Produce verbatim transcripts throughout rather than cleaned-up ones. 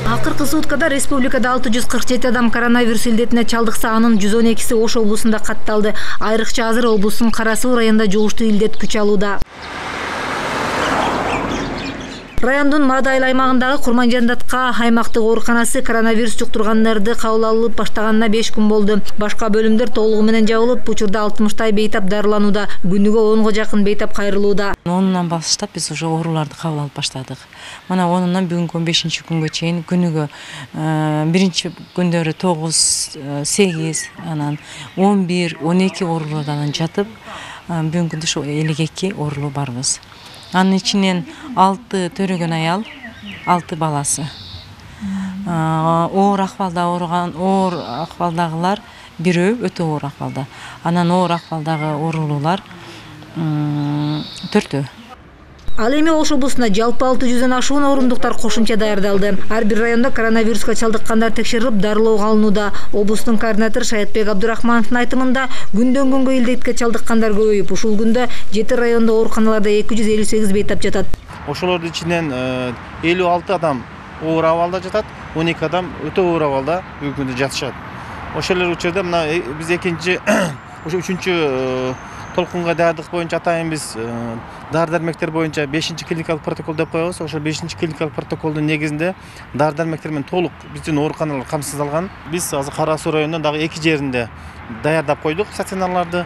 Акыркы суткада республикада алты жүз кырк жети адам коронавирус илдетине чалдыкса, анын жүз он экиси Ош облусунда катталды. Айрыкча азыр облустун Кара Суу районунда жугуштуу илдет күч алууда. Райондун Мадайыл аймагындагы Курманжандатка аймактык ооруканасы коронавирус жуктургандарды кабыл алып баштаганына беш күн болду. Башка бөлүмдөр толугу менен жабылып, учурда алтымыштай бейтап дарыланууда. Күнүгө онго жакын бейтап кайрылууда. онунан баштап биз уже ооруларды кабыл алып баштадык. Мына онунан бүгүнкү он бешинчи күнгө чейин күнүгө биринчи күндөрү тогуз, сегиз, анан он бир, он эки оорулардан жатып, бүгүнкү күндө ошо элүү эки оорулуу барбыз. Анын ичинен алты төрөгөн аял, алты баласы. Оор акыбалда ооруган, оор акыбалдагылар бирөө өтө оор акыбалда. Анан оор акыбалдагы оорулуулар төртөө. Ал эми Ош облусунда жалпы алты жүздөн ашуун орундуктар кошумча даярдалды. Ар бир райондо коронавируска чалдыккандар текшерилип, дарылоого алынууда. Облустун координатору Шаятбек Абдурахмановдун айтымында, күндөн күнгө илдетке чалдыккандар көбөйүп, ушул күндө жети райондо ооруканаларда эки жүз элүү сегиз бейтап жатат. Ошолордун ичинен элүү алты адам оор абалда жатат, он эки адам өтө оор абалда бүгүнкү күндө жатышат. Ошолор учурда мына биз экинчи, ошо үчүнчү толкунга даярдык боюнча атайын биз дары-дармектер боюнча бешинчи клиникалык протокол деп коебуз. Ошол бешинчи клиникалык протоколдун негизинде дары-дармектер менен толук биздин ооруканалар камсыздалган. Биз азыр Кара Суу районунун дагы эки жеринде даярдап койдук стационарларды.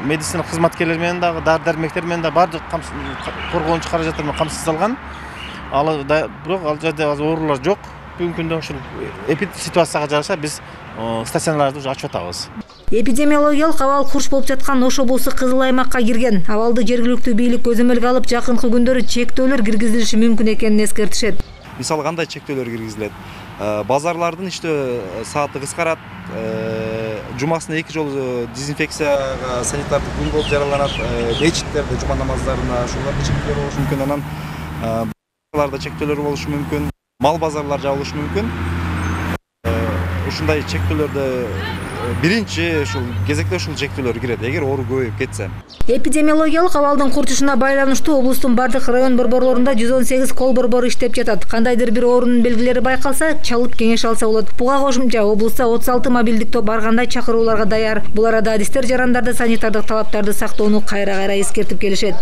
Медицина кызматкерлери менен дагы дары-дармектер менен да бардык коргоончу каражаттар менен камсыздалган. Ал бирок ал жерде азыр оорулар жок. Бүгүнкү күндө ушул ситуацияга жараша биз стационарларды уже ачып атабыз. Эпидемиологиялык абал курч болуп жаткан Ош облусу кызыл аймакка кирген. Абалды жергиликтүү бийлик көзөмөлгө алып, жакынкы күндөрү чектөөлөр киргизилиши мүмкүн экенин эскертишет. Мисалы кандай чектөөлөр киргизилет? Базарлардын иштөө сааты кыскарат, жумасына эки жолу дезинфекцияга санитардык күн болуп жараланат, мечиттерде жума намаздарына ошолордо чектөөлөр болушу мүмкүн, анан базарларда чектөөлөр болушу мүмкүн, мал базарлар жабылышы мүмкүн. Ушундай чектөөлөрдө биринчи ушул кезекте ушул чектөөлөр кирет, эгер оору көбөйүп кетсе. Эпидемиологиялык абалдын курчушуна байланыштуу облустун бардык район борборлорунда жүз он сегиз кол борбору иштеп жатат. Кандайдыр бир оорунун белгилери байкалса, чалып кеңеш алса болот. Буга кошумча облустта отуз алты мобилдик топ ар кандай чакырууларга даяр. Бул арада адистер жарандарды санитардык талаптарды сактоону кайра-кайра эскертип келишет.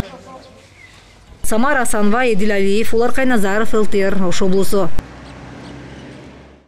Самара Асанова, Эдил Алиев, Улар Кайназаров, эл тэ эр, Ош облусу.